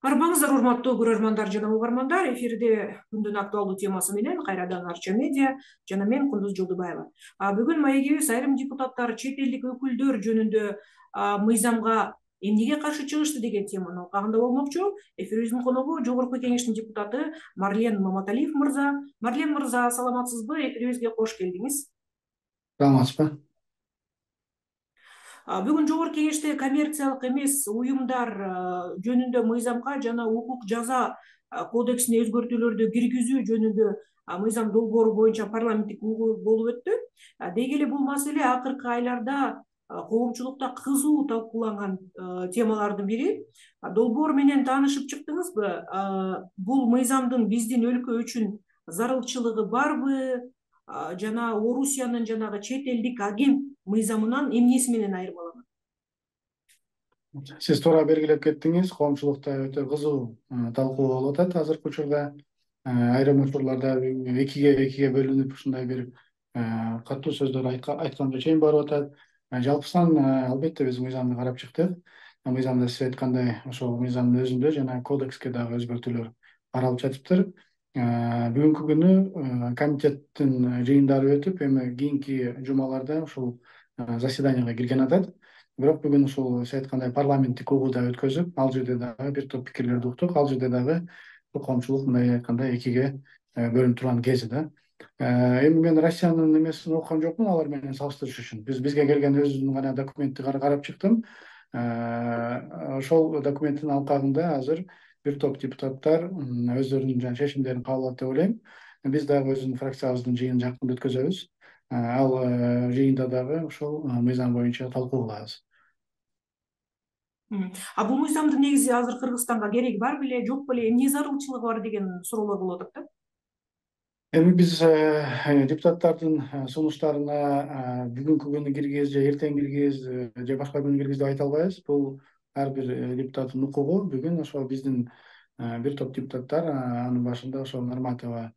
Арбаңыздар, урматтуу көрөрмандар жана угармандар. Эфирде күндүн актуалдуу темасы менен кайрадан Арча медиа жана мен Кундуз Жолдубаева. Бүгүн маегибиз айрым депутаттар чет элдик өкүлдөр жөнүндө мыйзамга эмнеге каршы чыгышты деген теманын алкагында болмокчу. Эфирибиздин коногу Жогорку Кеңештин депутаты Марлен Маматалиев мырза. Марлен мырза, саламатсызбы? Эфирибизге кош келдиңиз. Саламатсызбы? Бүгүн Жогорку Кеңеште коммерциялык эмес уюмдар жөнүндө мыйзамга жана укук жаза кодексине өзгөртүүлөрдү киргизүү жөнүндө мыйзам долбоору боюнча парламенттик угуу болуп өттү. Деги эле бул маселе акыркы айларда коомчулукта кызуу талкууланган темалардын бири. Долбоор менен таанышып чыктыңызбы? Бул мыйзамдын биздин өлкө үчүн зарылчылыгы барбы? Жана Орусиянын жанагы чет элдик агент мыйзамынан эмнеси менен айырмаланат? Сиз туура белгилеп кеттиңиз. Коомчулукта өтө кызуу талкуу болуп атат азыркы учурда. Айрым учурларда экиге бөлүнүп ушундай бир катуу сөздөр айтканга чейин барып атат. Жалпысынан албетте биз мыйзамды карап чыктык. Мыйзамда сиз айткандай ошол мыйзамдын өзүндө жана кодекске дагы өзгөртүүлөр каралып жатыптыр. Бүгүнкү күнү комитеттин жыйындары өтүп, эми кийинки жумаларда ушул заседанияга кирген атат. Бирок бүгүн ушул сиз айткандай парламенттик угууда өткөзүп, ал жерде дагы бир топ пикирлерди уктук. Ал жерде дагы коомчулук мындай айтканда экиге бөлүнүп турган кези да. Эми мен Россиянын немесин окуган жокмун алар менен салыштырыш үчүн. Бизге келген өзүмдүн гана документти карап чыктым. Ошол документтин алкагында азыр бир топ депутаттар өздөрүнүн чечимдерин кабыл алат деп ойлойм. Биз дагы өзүбүздүн фракциябыздын жыйынын жакында өткөзөбүз. Ал жыйында дагы ошол мыйзам боюнча талкуу кылабыз. Бул мыйзамдын негизи азыр Кыргызстанга кереги бар беле, жок беле, эмне зарылчылыгы бар деген суроолор болуп атат да. Эми биз депутаттардын сунуштарына бүгүнкү күнү киргиз же эртең киргиз же башка күнү киргиз деп айта албайбыз. Бул ар бир депутаттын укугу. Бүгүн ошол биздин бир топ депутаттар анын башында ошол Норматова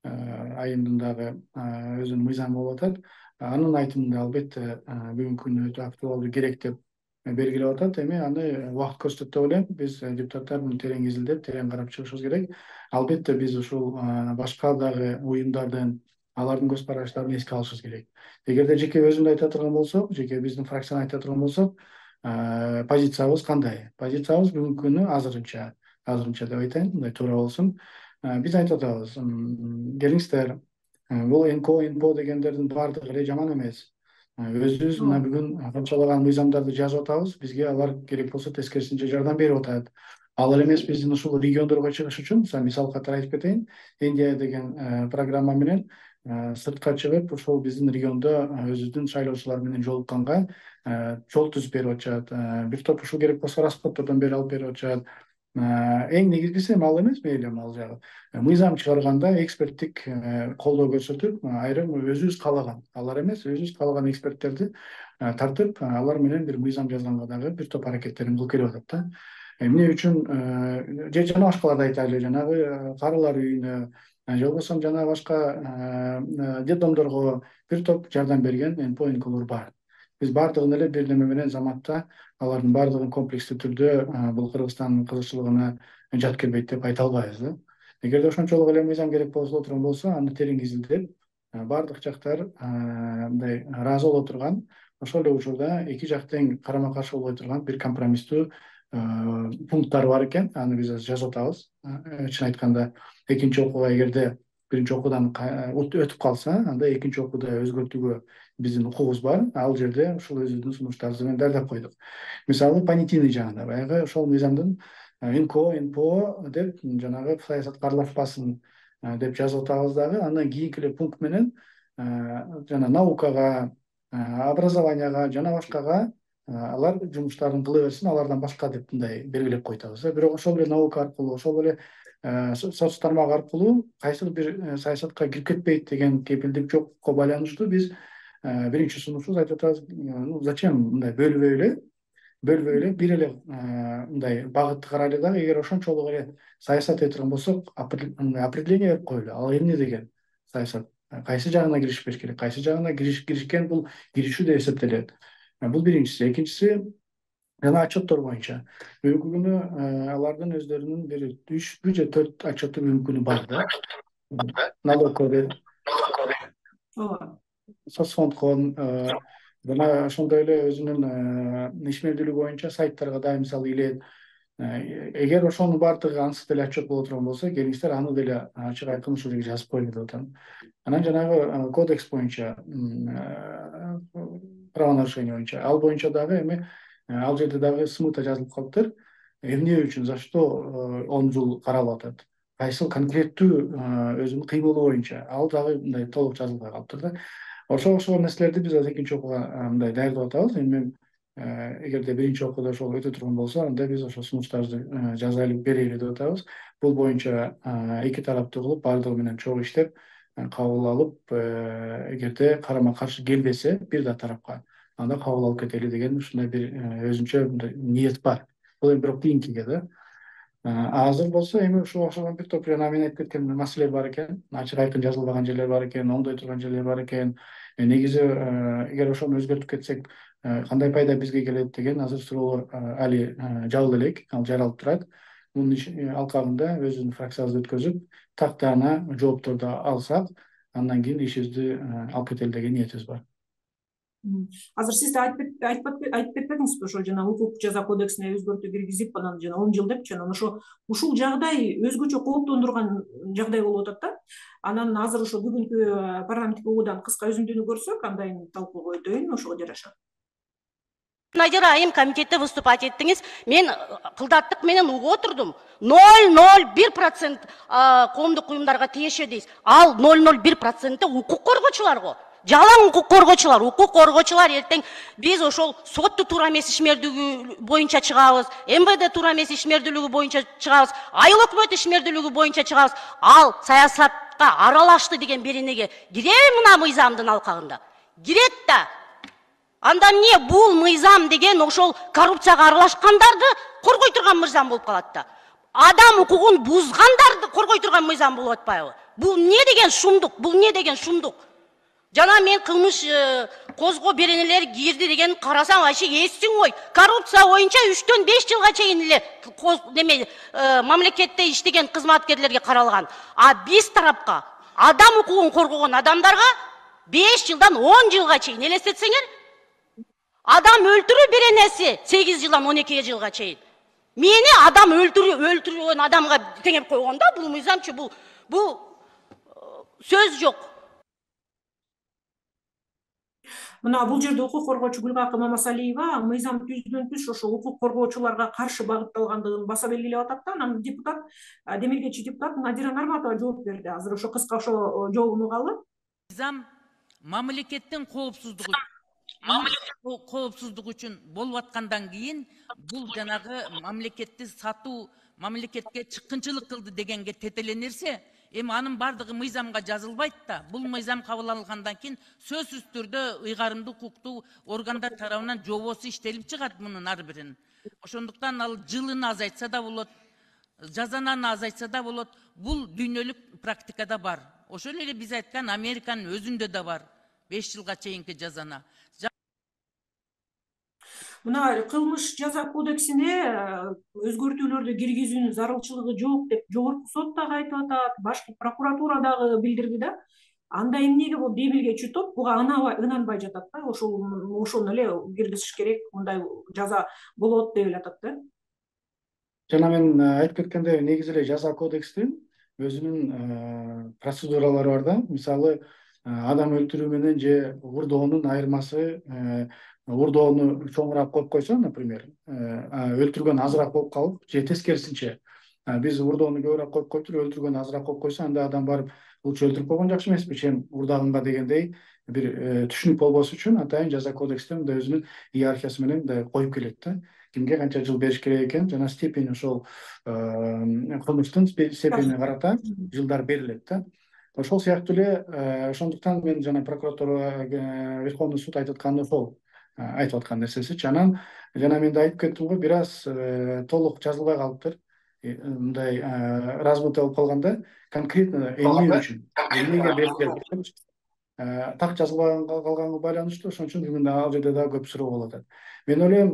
айымдын дагы өзүнүн мыйзамы болуп атат. Анын айтымында албетте бүгүнкү күнү өтө актуалдуу, керек деп белгилеп атат. Эми аны убакыт көрсөтөт деп ойлойм. Биз депутаттар муну терең изилдеп, терең карап чыгышыбыз керек. Албетте биз ушул башка дагы уюмдардын, алардын көз караштарын эске алышыбыз керек. Эгерде жеке өзүмдү айта турган болсок, жеке биздин фракцияны айта турган болсок, позициябыз кандай? Позициябыз бүгүнкү күнү азырынча деп айтайын, мындай туура болсун. Биз айтып атабыз, келиңиздер, бул НКО дегендердин баардыгы эле жаман эмес. Өзүбүз мына бүгүн канчалаган мыйзамдарды жазып атабыз, бизге алар керек болсо тескерисинче жардам берип атат. Алар эмес биздин ушул региондорго чыгыш үчүн, мисал катары айтып кетейин, Индия деген программа менен сыртка чыгып, ошол биздин региондо өзүбүздүн шайлоочулар менен жолукканга жол түзүп берип атышат. Бир топ ушул керек болсо расходтордон бери алып берип атышат. Эң негизгиси ал эмес, мейли ал жагы. Мыйзам чыгарганда эксперттик колдоо көрсөтүп, айрым өзүбүз каалаган, алар эмес, өзүбүз каалаган эксперттерди тартып, алар менен бир мыйзам жазганга дагы бир топ аракеттерин кылып келип атат да. Эмне үчүн же жана башкаларды айтайлы, жанагы карылар үйүнө, же болбосо жана башка детдомдорго бир топ жардам берген НКО бар. Биз баардыгын эле бир неме менен заматта алардын баардыгын комплекстүү түрдө бул Кыргызстандын кызыкчылыгына жат келбейт деп айта албайбыз да. Эгерде ошончолук эле мыйзам керек боло турган болсо, аны терең изилдеп, баардык жактар мындай ыраазы боло турган, ошол эле учурда эки жак тең карама каршы болбой турган бир компромисстүү пункттар бар экен. Аны биз жазып атабыз. Чын айтканда, экинчи окууга эгерде биринчи окуудан өтүп калса, анда экинчи окууда өзгөртүүгө биздин укугубуз бар. Ал жерде ушул өзүбүздүн сунуштарыбыз менен даярдап койдук. Мисалы, понятийный жагында баягы ошол мыйзамдын НКО деп жанагы саясатка аралашпасын деп жазып атабыз дагы. Андан кийинки эле пункт менен жана наукага, образованияга жана башкага алар жумуштарын кыла берсин, алардан башка деп мындай белгилеп койтабыз. Бирок ошол эле наука аркылуу, ошол эле соц тармак аркылуу кайсыл бир саясатка кирип кетпейт деген кепилдик жокко байланыштуу биз биринчи сунушубуз айтып атабыз, зачем мындай бөлбөй эле бир эле мындай багытты карайлы дагы. Эгер ошончолук эле саясат этип турган болсок, определение берип коелу. Ал эмне деген саясат? Кайсы жагына киришпеш керек? Кайсы жагына киришкен бул киришүү деп эсептелет. Бул биринчиси. Экинчиси, жана отчеттор боюнча бүгүнкү күнү алардын өздөрүнүн бир 3 же 4 отчетту бүгүнкү күнү бар да. Налог кодекс, ооба, соцфондкон жана ошондой эле өзүнүн ишмердүүлүгү боюнча сайттарга да мисалы илет. Эгер ошонун баардыгы ансыз деле отчет боло турган болсо, келиңиздер аны деле ачык айкын ушул жерге жазып коелу деп атам. Анан жанагы кодекс боюнча, правонарушение боюнча, ал боюнча дагы эми ал жерде дагы смыта жазылып калыптыр. Эмне үчүн, за что 10 жыл каралып атат? Кайсыл конкреттүү өзүнүн кыймылы боюнча ал дагы мындай толук жазылбай калыптыр да. Ошол нерселерди биз азыр экинчи окууга мындай даярдап атабыз. Эми эгерде биринчи окууда ошол өтө турган болсо, анда биз ошол сунуштарды жазайлы берели деп атабыз. Бул боюнча эки тараптуу кылып, баардыгы менен чогуу иштеп, кабыл алып, эгерде карама каршы келбесе бир да тарапка, анда кабыл алып кетели деген ушундай бир өзүнчө мындай ниет бар. Бул эми бирок кийинкиге да. Азыр болсо эми ушуга окшогон бир топ жана мен айтып кеткен маселелер бар экен, ачык айкын жазылбаган жерлер бар экен, оңдой турган жерлер бар экен. Негизи эгер ошону өзгөртүп кетсек кандай пайда бизге келет деген азыр суроолор али жабыл элек, ал жаралып турат. Мунун алкагында өзүбүздүн фракциябызды өткөзүп, тактаана жоопторду алсак, андан кийин ишибизди алып кетели деген ниетибиз бар. Азыр сиз да айтып кетпедиңизби, ошо жана укук жаза кодексине өзгөртүү киргизип, анан жана 10 жыл депчи, анан ушул жагдай өзгөчө кооптондурган жагдай болуп атат да. Анан азыр ошо бүгүнкү парламенттик угуудан кыска үзүндүнү көрсөк, андан талкууга өтөйүн, ошого жараша. Надира Айым комитетте выступать еттиңиз. Мен кылдаттык менен угуп отурдум. 0,01% коомдук уюмдарга тиешеби дейсиз. Ал 0,01% укук коргоочуларго. Жалаң укук коргоочулар эртең биз ошол сотту туура эмес ишмердүүлүгү боюнча чыгабыз, МВД туура эмес ишмердүүлүгү боюнча чыгабыз, айыл өкмөт ишмердүүлүгү боюнча чыгабыз. Ал саясатка аралашты деген беренеге киреби мына мыйзамдын алкагында? Кирет да. Анда эмне бул мыйзам деген ошол коррупцияга аралашкандарды коргой турган мыйзам болуп калат да. Адам укугун бузгандарды коргой турган мыйзам болуп атпайбы? Бул эмне деген шумдук? Бул эмне деген шумдук? Жана мен кылмыш козгоо беренелери кирди деген карасам, вообще эстиң ой. Коррупция боюнча 3-төн 5 жылга чейин эле неме мамлекетте иштеген кызматкерлерге каралган. А биз тарапка адам укугун коргогон адамдарга 5 жылдан 10 жылга чейин элестетсеңер, адам өлтүрүү беренеси 8 жылдан 12 жылга чейин. Мени адам өлтүргөн адамга теңеп койгондо бул мыйзамчы, бул сөз жок. Мына бул жерде укук коргоочу Гүлгакы Мамасалиева мыйзам түздөн түз ошо укук коргоочуларга каршы багытталгандыгын баса белгилеп атат да. Анан депутат, демилгечи депутат Надира Нарматова жооп берди. Азыр ошо кыска ошо жообун угалы. Мыйзам мамлекеттин коопсуздугу үчүн болуп аткандан кийин бул жанагы мамлекетти сатуу, мамлекетке чыккынчылык кылды дегенге тетеленирсе, эми анын бардыгы мыйзамга жазылбайт да. Бул мыйзам кабыл алынгандан кийин сөзсүз түрдө ыйгарымдуу укуктуу органдар тарабынан жобосу иштелип чыгат мунун ар биринин. Ошондуктан ал жылын азайтса да болот, жазананы азайтса да болот. Бул дүйнөлүк практикада бар. Ошол эле биз айткан Американын өзүндө да бар 5 жылга чейинки жазана. Мына кылмыш жаза кодексине өзгөртүүлөрдү киргизүүнүн зарылчылыгы жок деп жогорку сот дагы айтып атат, башкы прокуратура дагы билдирди да. Анда эмнеге бул демилгечи топ буга ынанбай жатат да? Ошону эле киргизиш керек, мындай жаза болот деп эле атат да. Жана мен айтып кеткендей, негизи эле жаза кодекстин өзүнүн процедуралары бар да. Мисалы, адам өлтүрүү менен же урдоонун айырмасы, урдоону чоңураак коюп койсо, например, өлтүргөн азыраак болуп калып, же тескерисинче, биз урдоону көбүрөөк коюп коюптур, өлтүргөн азыраак коюп койсо, анда адам барып лучше өлтүрүп койгон жакшы эмеспи, чем урдагымга дегендей бир түшүнүк болбош үчүн атайын жаза кодексте мындай өзүнүн иерархиясы менен мындай коюп келет да. Кимге канча жыл бериш керек экен, жана степень ошол кылмыштын степенине карата жылдар берилет да. Ошол сыяктуу эле, ошондуктан мен жана прокуратура, Верховный суд айтып атканы ошол, айтып аткан нерсесичи. Анан жана мен да айтып кеттим го, бир аз толук жазылбай калыптыр. Мындай размыто болуп калганда, конкретно эмне үчүн, эмнеге берилет. так жазылбай калганга байланыштуу. Ошон үчүн бүгүн ал жерде дагы көп суроо болуп атат. Мен ойлойм,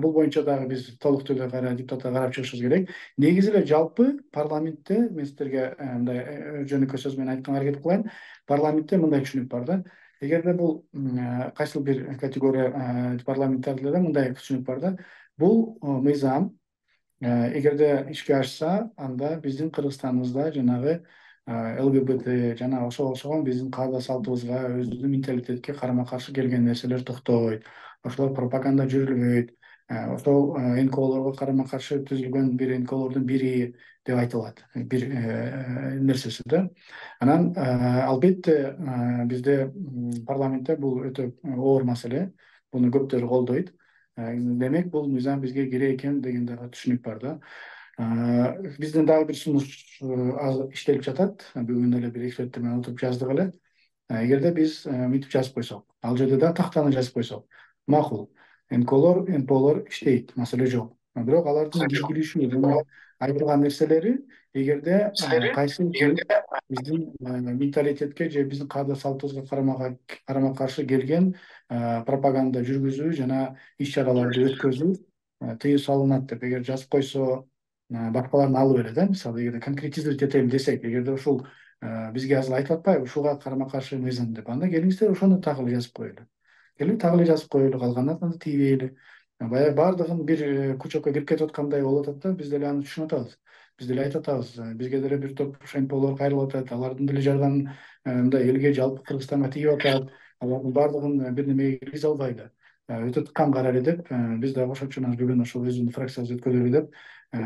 бул боюнча дагы биз толук түрдө депутаттар карап чыгышыбыз керек. Негизи эле жалпы парламентте мен сиздерге мындай жөнөкөй сөз менен айтканга аракет кылайын. Парламентте мындай түшүнүк бар да. Эгерде бул кайсыл бир категория парламентарилерде мындай түшүнүк бар да. Бул мыйзам эгерде ишке ашса, анда биздин Кыргызстаныбызда жанагы ЛГБТ жана ошого окшогон биздин каада салтыбызга, өзүбүздүн менталитетке карама каршы келген нерселер токтойт, ошолор пропаганда жүрүлбөйт, ошол НКОлорго карама каршы түзүлгөн бир НКОлордун бири деп айтылат, бир нерсеси да. Анан албетте бизде парламентте бул өтө оор маселе, буну көптөр колдойт. Демек бул мыйзам бизге керек экен деген дагы түшүнүк бар да. Бизден дагы бир сунуш иштелип жатат. Бүгүн эле бир эксперттер менен отуруп жаздык эле. Эгерде биз мынтип жазып койсок, ал жерде да тактаны жазып койсок, макул. НПОлор иштейт, маселе жок. Бирок алардын ийгилишүү жана айтылган нерселери эгерде кайсы биздин менталитетке же биздин каада салтыбызга карама каршы келген пропаганда жүргүзүү жана иш чараларды өткөзүү тыюу салынат деп эгер жазып койсо, башкалардын алып эле да, мисалы эгерде конкретизировать этелим десек, эгерде ушул бизге азыр айтып атпайбы ушуга карама каршы мыйзам деп, анда келиңиздер ошону так эле жазып коелу. Келип так эле жазып коелу, калганын анда тийбейли. Баягы баардыгын бир кучокко кирип кетип аткандай болуп атат да, биз деле аны түшүнүп атабыз. Биз деле айтып атабыз, бизге деле бир топ НПОлор кайрылып атат, алардын деле жардамы мындай элге жалпы Кыргызстанга тийип атат, алардын баардыгын бир немеге киргизе албайлы. Өтө тыккан кара эле деп, биз дагы ошон үчүн бүгүн ошол өзүбүздүн фракциябыз өткөзөлү деп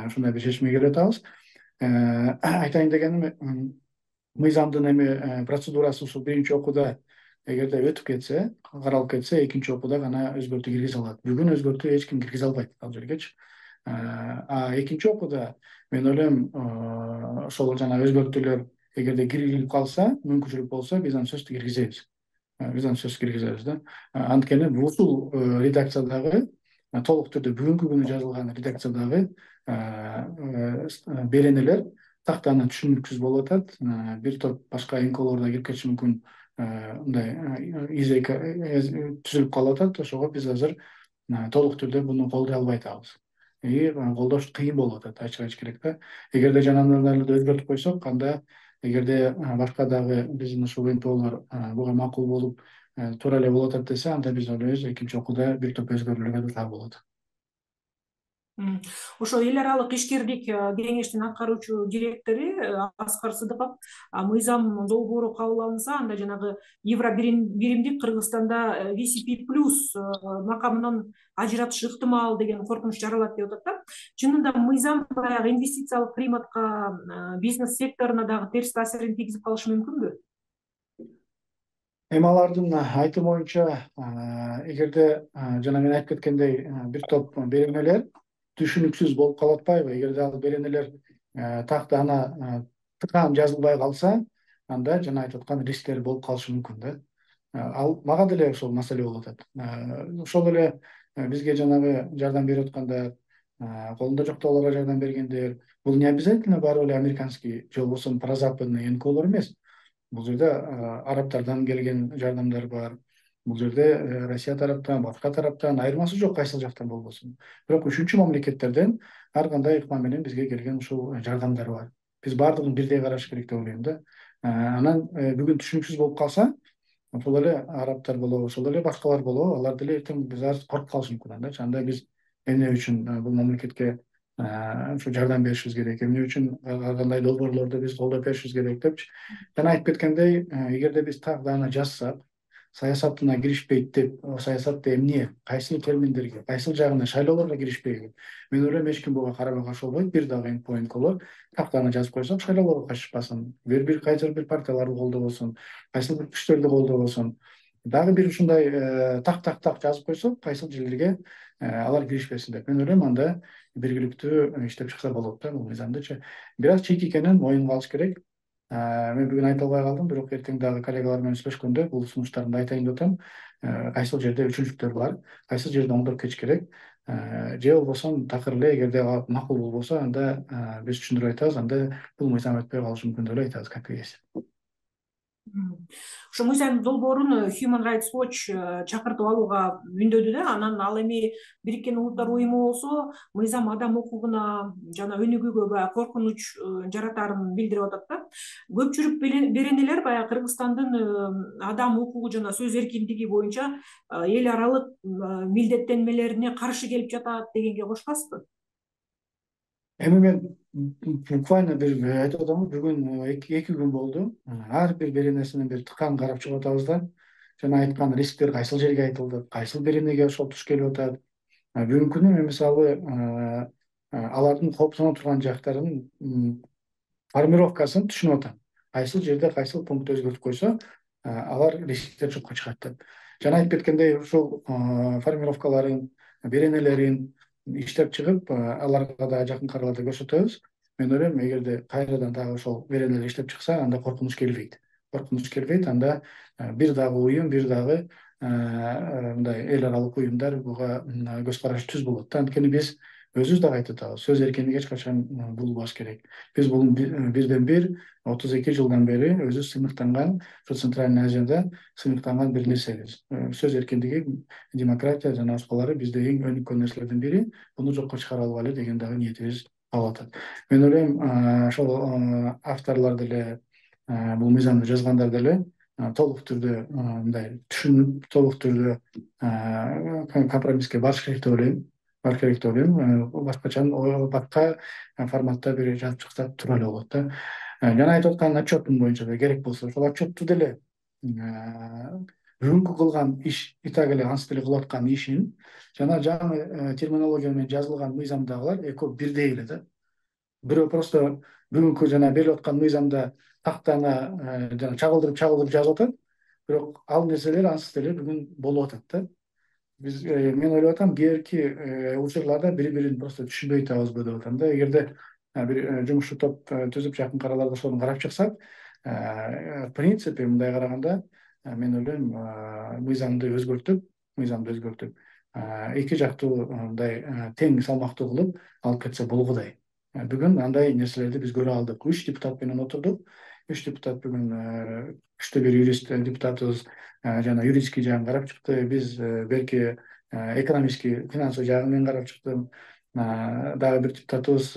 ушундай бир чечимге келип атабыз. Айтайын дегеним, мыйзамдын процедурасы ушул биринчи окууда эгерде өтүп кетсе, каралып кетсе, экинчи окууда гана өзгөртүү киргизе алат. Бүгүн өзгөртүү эч ким киргизе албайт ал жергечи. Экинчи окууда мен ойлойм, ошол жанагы өзгөртүүлөр эгерде киргизилип калса, мүмкүнчүлүк болсо, биз аны сөзсүз киргизебиз. Да. Анткени ушул редакциядагы толук түрдө бүгүнкү күнү жазылган редакциядагы беренелер тактаны түшүнүксүз болуп атат. Бир топ башка НКОлор да кирип кетиши мүмкүн, мындай изек түзүлүп калып атат. Ошого биз азыр толук түрдө буну колдой албай атабыз. Колдош кыйын болуп атат, ачык керек да. Эгерде жанагыларды өзгөртүп койсок, анда эгерде башка дагы биздин ушул НПОлор буга макул болуп туура эле болуп атат десе, анда биз ойлойбуз экинчи окууда бир топ өзгөрүүлөр да болот. Ошо эл аралык ишкердик кеңештин аткаруучу директору Аскар Сыдыков мыйзам долбоору кабыл алынса, анда жанагы евро биримдик Кыргызстанда VCP+ макамынан ажыратышы ыктымал деген коркунуч жаралат деп атат да. Чынында мыйзам баягы инвестициялык климатка, бизнес секторуна дагы терс таасирин тийгизип калышы мүмкүнбү? Алардын айтымы боюнча, эгерде жана мен айтып кеткендей бир топ беренелер түшүнүксүз болуп калып атпайбы? Эгерде ал беренелер тактана тыкан жазылбай калса, анда жана айтып аткан рисктер болуп калышы мүмкүн да. Ал мага деле ошол маселе болуп атат. Ошол эле бизге жанагы жардам берип аткандар, колунда жоктогуларга жардам бергендер, бул не обязательно баары эле американский же болбосо прозападный НКОлор эмес. Бул жерде арабтардан келген жардамдар бар. Бул жерде Россия тараптан, башка тараптан айырмасы жок кайсыл жактан болбосун. Бирок үчүнчү мамлекеттерден ар кандай ыкма менен бизге келген ушул жардамдар бар. Биз баардыгын бирдей караш керек деп ойлойм да. Анан бүгүн түшүнүксүз болуп калса, ошол эле арабтар болобу, ошол эле башкалар болобу, алар деле эртең биз коркуп калышы мүмкүн андачы. Анда биз эмне үчүн бул мамлекетке ушу жардам беришибиз керек, эмне үчүн ар кандай долбоорлорду биз колдоп беришибиз керек депчи. Жана айтып кеткендей, эгерде биз так даана жазсак, саясатына киришпейт деп, саясатты эмне, кайсыл терминдерге, кайсыл жагына, шайлоолорго киришпейби. Мен ойлойм эч ким буга карама каршы болбойт. Бир дагы НКОлор тактаны жазып койсок, шайлоолорго катышпасын, кайсыл бир партияларды колдобосун, кайсыл бир күчтөрдү колдобосун. Дагы бир ушундай так жазып койсок, кайсыл жерлерге алар киришпесин деп. Мен ойлойм анда биргиликтүү иштеп чыкса болот да бул мыйзамдычы. Бир аз чийик экенин моюнга алыш керек. Мен бүгүн айта албай калдым, бирок эртең дагы коллегалар менен сүйлөшкөндө бул сунуштарымды айтайын деп атам. Кайсыл жерде үчүнчүлүктөр бар, кайсыл жерде оңдоп кетиш керек. Же болбосо такыр эле эгерде макул болбосо, анда биз түшүндүрүп айтабыз, анда бул мыйзам өтпөй калышы мүмкүн деп эле айтабыз как есть. Ошо мыйзам долбоорун Human Rights Watch чакыртып алууга үндөдү да. Анан ал эми Бириккен Улуттар Уюму болсо мыйзам адам укугуна жана өнүгүүгө баягы коркунуч жаратаарын билдирип атат да. Көпчүлүк беренелер баягы Кыргызстандын адам укугу жана сөз эркиндиги боюнча эл аралык милдеттенмелерине каршы келип жатат дегенге кошпайсызбы? Эми мен буквально бир айтып атам, бүгүн 2 күн болду. Ар бир беренесинен бир тыкан карап чыгып атабыз да. Жана айткан рисктер кайсыл жерге айтылды, кайсыл беренеге ошол туш келип атат. Бүгүнкү күнү мен мисалы алардын кооптоно турган жактарын формировкасын түшүнүп атам. Кайсыл жерде кайсыл пункт өзгөртүп койсо, алар рисктер жокко чыгат деп. Жана айтып кеткендей, ушул формировкаларын, беренелерин иштеп чыгып, аларга да жакын араларда көрсөтөбүз. Мен ойлойм, эгерде кайрадан дагы ошол беренелер иштеп чыкса, анда коркунуч келбейт. Анда бир дагы уюм, бир дагы мындай эл аралык уюмдар буга көз карашы түз болот да. Анткени биз өзүбүз дагы айтып атабыз, сөз эркиндиги эч качан булбаш керек. Биз бул бирден бир 32 жылдан бери өзү сыймыктанган, ошо Центральный Азияда сыймыктанган бир нерсебиз. Сөз эркиндиги, демократия жана башкалары бизде эң өнүккөн нерселердин бири. Буну жокко чыгара алгайлы деген дагы ниетибиз калып атат. Мен ойлойм, ошол авторлор деле, бул мыйзамды жазгандар деле толук түрдө мындай түшүнүп, толук түрдө компромисске барыш керек деп ойлойм. Башкача башка форматта бир жазып чыкса тура эле болот да. Жана айтып аткан отчеттун боюнча да керек болсо, ошол отчетту деле бүгүнкү кылган иш, и так эле ансы деле кылып аткан ишин жана жаңы терминология менен жазылган мыйзамдагылар экөө бирдей эле да. Бирөө просто бүгүнкү жана берип аткан мыйзамда тактаны жана чагылдырып жазып атат, бирок ал нерселер ансы деле бүгүн болуп атат да. Мен ойлоп атам, кээинки учурларда бири-бирин просто түшүнбөй атабызбы деп атам да. Эгерде бир жумушчу топ түзүп жакын араларда ошону карап чыксак, в принципе мындай караганда мен ойлойм, мыйзамды өзгөртүп эки жактуу мындай тең салмактуу кылып алып кетсе болгудай. Бүгүн андай нерселерди биз көрө алдык. 3 депутат менен отурдук. 3 депутат бүгүн күчтүү бир юрист депутатыбыз жана юридический жагын карап чыкты. Биз белки экономический, финансовый жагын мен карап чыктым. Дагы бир депутатыбыз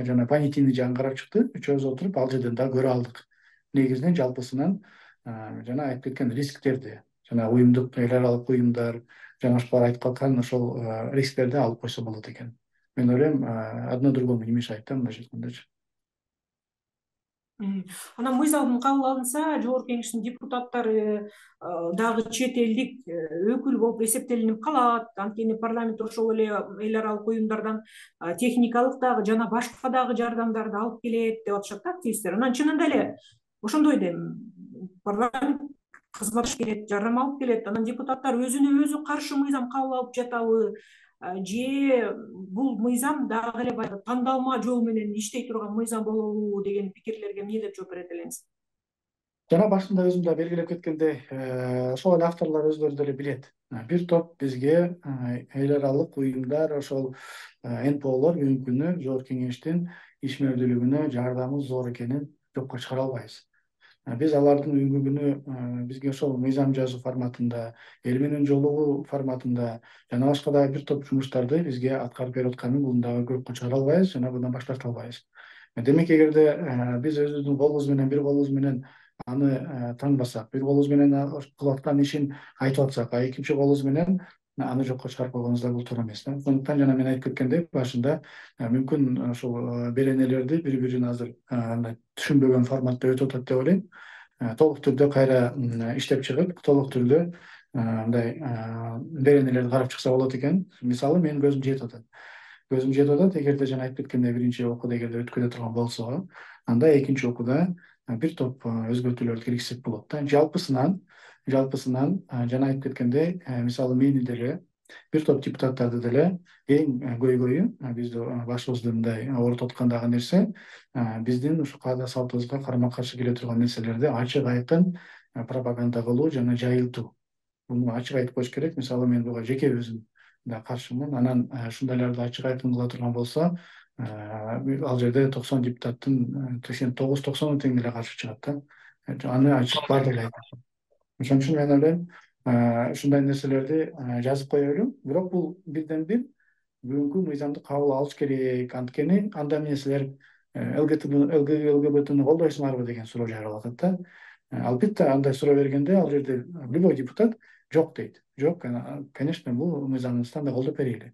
жана понятийный жагын карап чыкты. Үчөөбүз отуруп ал жерден дагы көрө алдык. Негизинен жалпысынан жана айтып кеткен рисктерди, жана уюмдук, эл аралык уюмдар жана башкалар айтып аткан ошол рисктерди алып койсо болот экен. Мен ойлойм, одно другому не мешает да, мындайча айткандачы. Анан мыйзам кабыл алынса, жогорку кеңештин депутаттары дагы чет элдик өкүл болуп эсептелинип калат. Анткени парламент ошол эле эл аралык уюмдардан техникалык дагы жана башка дагы жардамдарды алып келет деп атышат да активисттер. Анан чынында эле ошондой дем, парламент кызмат келет, жардам алып келет. Анан депутаттар өзүнө өзү каршы мыйзам кабыл алып жатабы, же бул мыйзам дагы эле баягы тандалма жол менен иштей турган мыйзам болобу деген пикирлерге эмне деп жооп берет элеңиз? Жана башында өзүм да белгилеп кеткендей, ошол эле авторлор өздөрү деле билет. Бир топ бизге эл аралык уюмдар, ошол НПОлор бүгүнкү күнү жогорку кеңештин ишмердүүлүгүнө жардамы зор экенин жокко чыгара албайбыз. Биз алардын бүгүнкү күнү бизге ошол мыйзам жазуу форматында, эл менен жолугуу форматында жана башка дагы бир топ жумуштарды бизге аткарып берип атканын муну дагы жокко чыгара албайбыз жана bundan баш тарта албайбыз. Демек, эгерде биз өзүбүздүн колубуз менен, бир колубуз менен аны таңбасак, бир колубуз менен кылып аткан ишин айтып атсак, экинчи колубуз менен аны жокко чыгарып койгонубуз да бул туура эмес да. Ошондуктан жана мен айтып кеткендей, башында мүмкүн ошол беренелерди бири-бирин азыр түшүнбөгөн форматта өтүп атат деп ойлойм. Толук түрдө кайра иштеп чыгып, толук түрдө мындай беренелерди карап чыкса болот экен. Мисалы, менин көзүм жетип атат. Эгерде жана айтып кеткендей биринчи окууда эгерде өткөрө турган болсо, анда экинчи окууда бир топ өзгөртүүлөрдү киргизсек болот да. Жалпысынан жана айтып кеткендей, мисалы мени деле, бир топ депутаттарды деле эң көйгөйү, бизди башыбызды мындай оорутуп аткандагы нерсе, биздин ушу каада салтыбызга карама каршы келе турган нерселерди ачык айкын пропаганда кылуу жана жайылтуу. Буну ачык айтып коюш керек. Мисалы, мен буга жеке өзүм да каршымын. Анан ушундайларды ачык айкын кыла турган болсо, ал жерде 90 депутаттын 89-90 тең эле каршы чыгат да. аны ачык баардыгы айтат. Ошон үчүн мен ойлойм, ушундай нерселерди жазып кое берүү. Бирок бул бирден бир бүгүнкү мыйзамды кабыл алыш керек. Анткени анда эмне силер ЛГБТны колдойсуңарбы деген суроо жаралып атат да. Албетте андай суроо бергенде ал жерде любой депутат жок дейт. Жок, конечно, бул мыйзамыбызды андай колдоп берели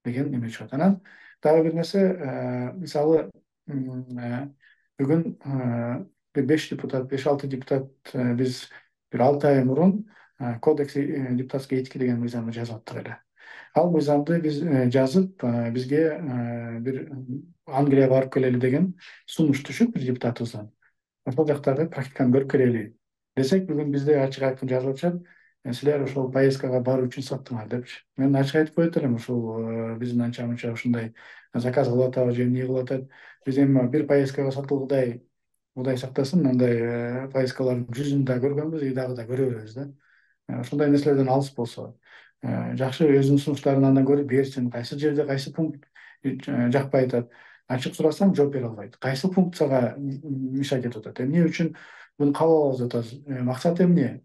деген неме чыгат. Анан дагы бир нерсе, мисалы бүгүн 5-6 депутат биз бир 6 ай мурун кодекс депутатской этики деген мыйзамды жазып аттык эле. Ал мыйзамды биз жазып, бизге бир Англияга барып келели деген сунуш түшүп бир депутатыбыздан. Ошол жактагы практиканы көрүп келели десек, бүгүн бизде ачык айкын жазылып атышат, силер ошол поездкага баруу үчүн саттыңар депчи. Мен ачык айтып коет элем, ушул биздин анча мынча ушундай заказ кылып атабыз же эмне кылып атат. Биз эми бир поездкага сатылгыдай, Кудай сактасын, андай поездкалардын 100-ын да көргөнбүз, и дагы да көрө беребиз да. Ошондой нерселерден алыс болсо, жакшы өзүнүн сунуштарын андан көрүп берсин. Кайсы жерде кайсы пункт жакпай атат, ачык сурасаң жооп бере албайт. Кайсы пункт сага мешать этип атат, эмне үчүн буну кабыл алабыз деп атасыз, максат эмне,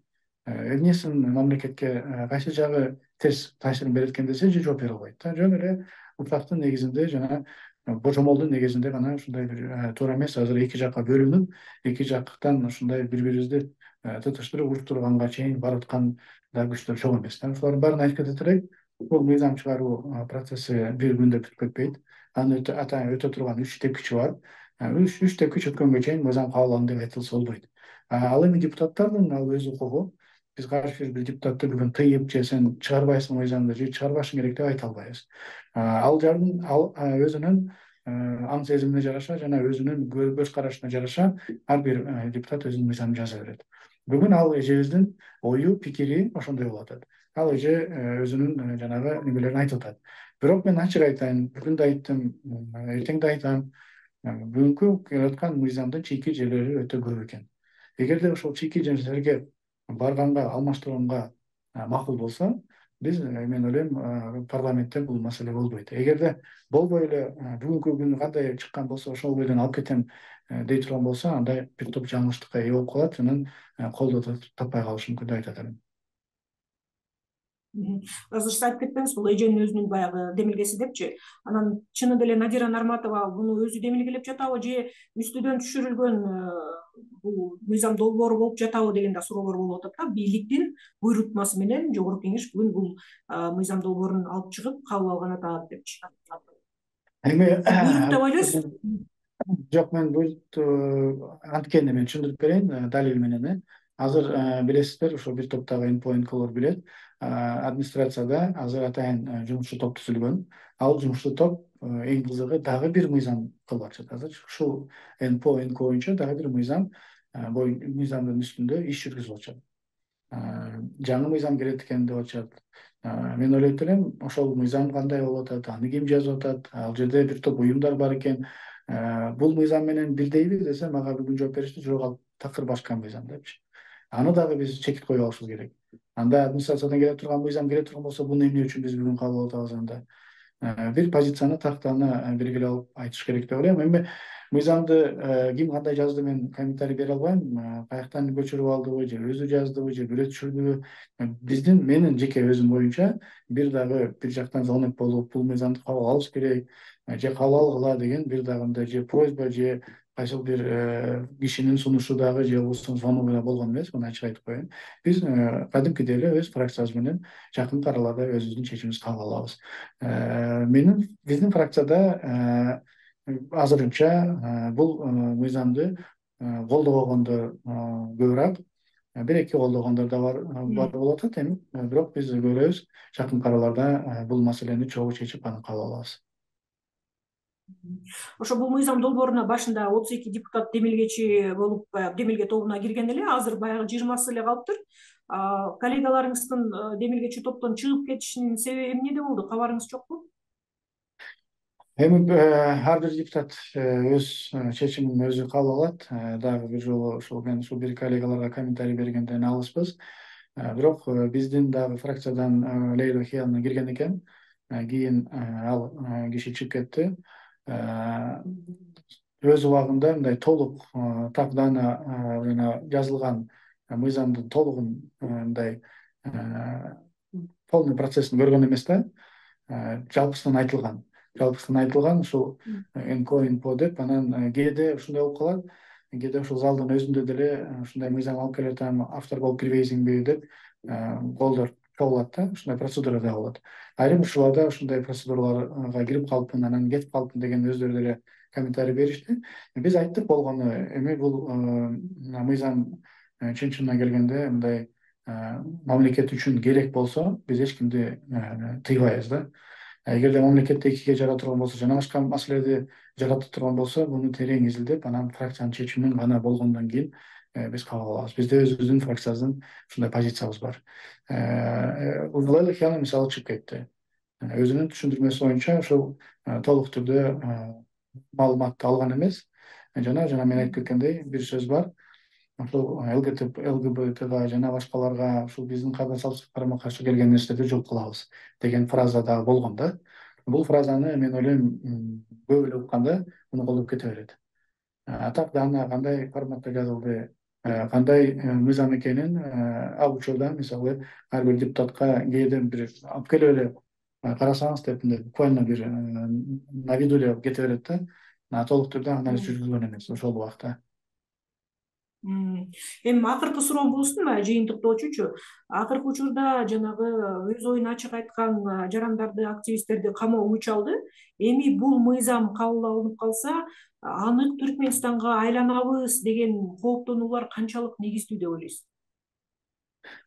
эмнесин мамлекетке кайсы жагы терс таасирин берет экен десе, жооп бере албайт да. Жөн эле утактын негизинде жана божомолдун негизинде гана ушундай бир туура эмес, азыр эки жакка бөлүнүп, эки жактан ушундай бири-бирибизди тытыштырып уруштурганга чейин барып аткан да күчтөр жок эмес да. Ошолордун баарын айтып кетет элек. Бул мыйзам чыгаруу процесси бир күндө бүтүп кетпейт. Анын өтө турган 3 тепкичи бар. 3 тепкич өткөнгө чейин мыйзам кабыл алынды деп айтылса болбойт. Ал эми депутаттардын ал өз укугу. Биз каршы бир депутатты бүгүн тыйып же сен чыгарбайсың мыйзамды же чыгарбашың керек деп айта албайбыз. Ал өзүнүн аң сезимине жараша жана өзүнүн көз карашына жараша ар бир депутат өзүнүн мыйзамын жаза берет. Бүгүн ал эжебиздин ою, пикири ошондой болуп атат. Ал эже өзүнүн жанагы немелерин айтып атат. Бирок мен ачык айтайын, бүгүн да айттым, эртең да айтам, бүгүнкү келип аткан мыйзамдын чийки жерлери өтө көп экен. Эгерде ошол чийки жерлерге барганга, алмаштырганга макул болсо, мен ойлойм, парламентте бул маселе болбойт. Эгерде болбой эле бүгүнкү күнү кандай чыккан болсо ошол бойдон алып кетем дей турган болсо, анда бир топ жаңылыштыкка ээ болуп калат, анан колдоо таппай калышы мүмкүн деп айтат элем. Азыр сиз айтып кетпеңиз, бул эженин өзүнүн баягы демилгеси депчи. Анан чынында эле Надира Нарматова буну өзү демилгелеп жатабы же үстүдөн түшүрүлгөн бул мыйзам долбоору болуп жатабы деген да суроолор болуп атат да. Бийликтин буйрутмасы менен Жогорку Кеңеш бүгүн бул мыйзам долбоорун алып чыгып кабыл алган атат депчи. Буйрук деп ойлойсузбу? Жок, мен буйрукту анткени мен түшүндүрүп берейин далил менен. Азыр билесиздер, ошо бир топтогу НПО-нколор билет, администрацияда азыр атайын жумушчу топ түзүлгөн. Ал жумушчу топ эң кызыгы дагы бир мыйзам кылып атышат. Азыр ушул НПО боюнча дагы бир мыйзамдын үстүндө иш жүргүзүп атышат. Жаңы мыйзам келет экен деп атышат. Мен ойлойт элем, ошол мыйзам кандай болуп атат, аны ким жазып атат, ал жерде бир топ уюмдар бар экен. Бул мыйзам менен бирдейби десе, мага бүгүн жооп беришти, жок, ал такыр башка мыйзам депчи. Аны дагы биз чекит коюп алышыбыз керек. Анда администрациядан келе турган мыйзам келе турган болсо, буну эмне үчүн биз бүгүн кабыл алып атабыз анда? Бир позицияны, тактаны белгилеп алып айтыш керек деп ойлойм. Эми мыйзамды ким кандай жазды, мен комментарий бере албайм. Каяктан көчүрүп алдыбы, же өзү жаздыбы, же бирөө түшүрдүбү. Менин жеке өзүм боюнча бир дагы бир жактан звонок болуп, бул мыйзамды кабыл алыш керек, же кабыл алгыла деген бир дагы мындай же просьба, же кайсыл бир кишинин сунушу дагы же звоногу болгон эмес, муну ачык айтып коеюн. Биз кадимкидей эле өз фракциябыз менен жакынкы араларда өзүбүздүн чечимибизди кабыл алабыз. Биздин фракцияда азырынча бул мыйзамды колдобогондор көбүрөөк, бир-эки колдогондор да бар болуп атат эми. Бирок биз көрөбүз, жакынкы араларда бул маселени чогуу чечип, аны кабыл алабыз. Ошо бул мыйзам долбооруна башында 32 депутат демилгечи болуп, демилге тобуна кирген эле, азыр баягы 20сы эле калыптыр. Коллегаларыңыздын демилгечи топтон чыгып кетишинин себеби эмнеде болду? Кабарыңыз жокпу? Эми ар бир депутат өз чечимин өзү кабыл алат. Дагы бир жолу мен бир коллегаларга комментарий бергенден алыспыз. Бирок биздин дагы фракциядан Лейла Хиялна кирген экен. Кийин ал киши чыгып кетти. Өз убагында мындай толук так даана жана жазылган мыйзамдын толугун мындай полный процессин көргөн эмес да, жалпысынан айтылган ушул НКО деп, анан кээде ушундай болуп калат, кээде ушул залдын өзүндө деле ушундай мыйзам алып келатам, автор болуп кирбейсиңби деп колдор чогулат да, ушундай процедура да болот. Айрым учурларда ушундай процедураларга кирип калыпмын, анан кетип калыпмын деген өздөрү деле комментарий беришти. Биз айттык болгону эми бул мыйзам чын-чынына келгенде мындай мамлекет үчүн керек болсо биз эч кимди тыйбайбыз да. Эгерде мамлекетте экиге жара турган болсо, жана башка маселеди жарата турган болсо, муну терең изилдеп, анан фракциянын чечимин гана болгондон кийин биз кабыл алабыз. Бизде өзүбүздүн фракциябыздын ушундай позициябыз бар. Лейла Хияна мисалы чыгып кетти. Өзүнүн түшүндүрмөсү боюнча ушул толук түрдө маалыматты алган эмес. Жана мен айтып кеткендей, бир сөз бар. Ушул ЛГБТга жана башкаларга ушул биздин кадыр-салчылык карама каршы келген нерселерди жок кылабыз деген фраза да болгон да. Бул фразаны мен ойлойм көп эле укканда муну колдоп кете берет. Так даана кандай форматта жазылды, кандай мыйзам экенин ал учурда мисалы ар бир депутатка кээде бир алып келип эле карасаңыз деп буквально бир на виду эле кете берет да. Толук түрдө анализ жүргүзгөн эмес ошол убакта. Эми акыркы суроо болсунбу, жыйынтыктоочучу. Акыркы учурда жанагы өз оюн ачык айткан жарандарды, активисттерди камоо күч алды. Эми бул мыйзам кабыл алынып калса, анык Түркмөнстанга айланабыз деген кооптонуулар канчалык негиздүү деп ойлойсуз?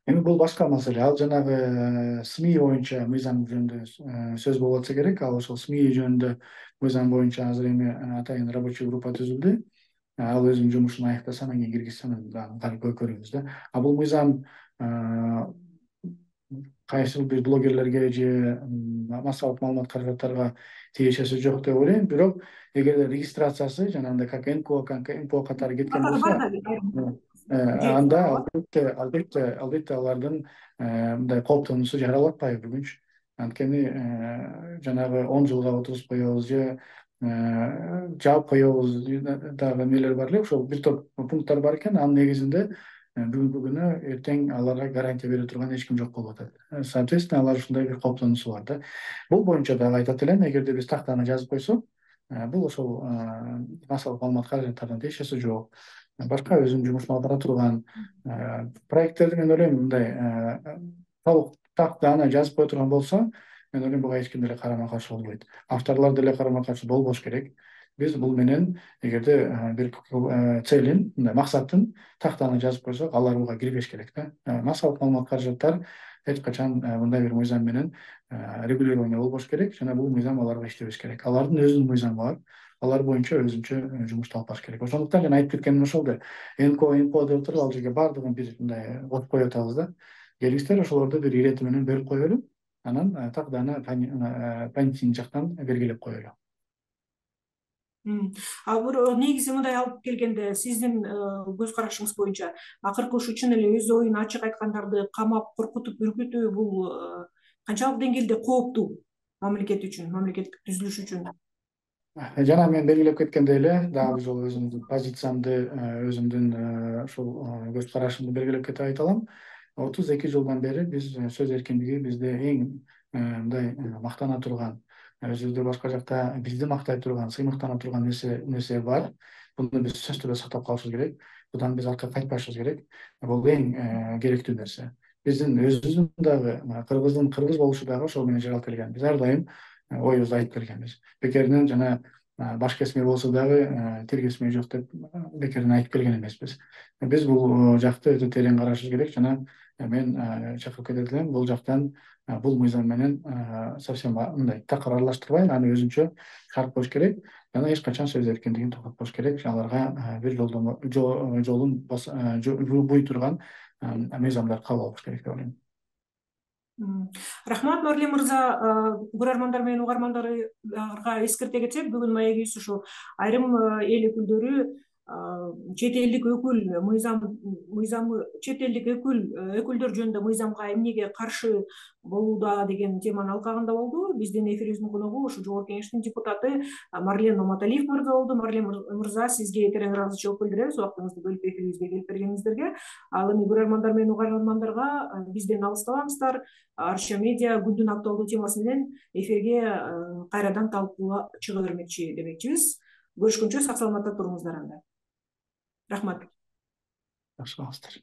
Эми бул башка маселе. Ал жанагы СМИ боюнча мыйзам жөнүндө сөз болуп атса керек. Ал ошол СМИ жөнүндө мыйзам боюнча азыр эми атайын рабочий группа түзүлдү. Ал өзүнүн жумушун аяктаса, анан кийин киргизсе, анан көрүбүз да. Бул мыйзам кайсы бир блогерлерге же массалык маалымат каражаттарга тиешеси жок деп ойлойм. Бирок эгерде регистрациясы жанагындай как НКО катары кеткен болсо, анда албетте алардын мындай кооптонуусу жаралып атпайбы бүгүнчү. Анткени жанагы 10 жылга отуруп коебуз же жаап коебуз дагы нелер бар эле, ошол бир топ пункттар бар экен. Анын негизинде бүгүнкү күнү эртең аларга гарантия бере турган эч ким жок болуп атат. Соответственно, алар ушундай бир кооптонуусу бар да. Бул боюнча дагы айтат элем, эгерде биз тактаны жазып койсок, бул ошол массалык маалымат каражаттарына тиешеси жок. Башка өзүнүн жумушун алып бара турган проекттерди мен ойлойм мындай толук тактаны жазып кое турган болсо, мен ойлойм буга эч ким деле карама каршы болбойт. Авторлор деле карама каршы болбош керек. Биз бул менен эгерде бир целин, мындай максатын тактаны жазып койсок, алар буга кирбеш керек да. Массалык маалымат каражаттар эч качан мындай бир мыйзам менен регулирование болбош керек жана бул мыйзам аларга иштебеш керек. Алардын өзүнүн мыйзамы бар. Алар боюнча өзүнчө жумушту алып барыш керек. Ошондуктан жана айтып кеткеним ошол да. НКО деп туруп ал жерге баардыгын бир мындай коюп коюп атабыз да. Келиңиздер ошолорду бир ирети менен бөлүп коелу. Анан так даана понятийный жактан белгилеп коелу. Негизи мындай алып келгенде сиздин көз карашыңыз боюнча акыркы ушу чын эле өз оюн ачык айткандарды камап, коркутуп, үркүтүү бул канчалык деңгээлде кооптуу мамлекет үчүн, мамлекеттик түзүлүш үчүн? Жана мен белгилеп кеткендей эле, дагы бир жолу өзүмдүн позициямды, өзүмдүн ушул көз карашымды белгилеп кетип айта алам. 32 жылдан бери биз сөз эркиндиги бизде эң мындай мактана турган, өзүбүздө башка жакта бизди мактай турган, сыймыктана турган нерсе бар. Буну биз сөзсүз түрдө сактап калышыбыз керек. Будан биз артка кайтпашыбыз керек. Бул эң керектүү нерсе. Биздин өзүбүздүн дагы кыргыздын кыргыз болушу дагы ошол менен жаралып келген. Биз ар дайым оюбузду айтып келгенбиз. Бекеринен жана баш кесме болсо дагы тил кесме жок деп бекеринен айтып келген эмеспиз. Биз бул жакты өтө терең карашыбыз керек жана мен чакырып кетет элем, бул жактан бул мыйзам менен совсем мындай такыр аралаштырбай, аны өзүнчө чыгарып коюш керек жана эч качан сөз эркиндигин токтотпош керек. Аларга бир жолун буй турган мыйзамдар кабыл алыш керек деп ойлойм. Рахмат, Нурлан мырза. Көрөрмандар менен угармандарга эскерте кетсек, бүгүн маегибиз ушул айрым эл өкүлдөрү чет элдик чет элдик өкүлдөр жөнүндө мыйзамга эмнеге каршы болууда деген теманын алкагында болду. Биздин эфирибиздин коногу ушу Жогорку Кеңештин депутаты Марлен Маматалиев мырза болду. Марлен мырза, сизге терең ыраазычылык билдиребиз убактыңызды бөлүп эфирибизге келип бергениңиздерге. Ал эми көрөрмандар менен угармандарга бизден алыстабаңыздар. Арча медиа күндүн актуалдуу темасы менен эфирге кайрадан талкууга чыга бермекчи демекчибиз. Көрүшкөнчө сак саламатта туруңуздар анда. Рахмат. Жакшы болуңуздар.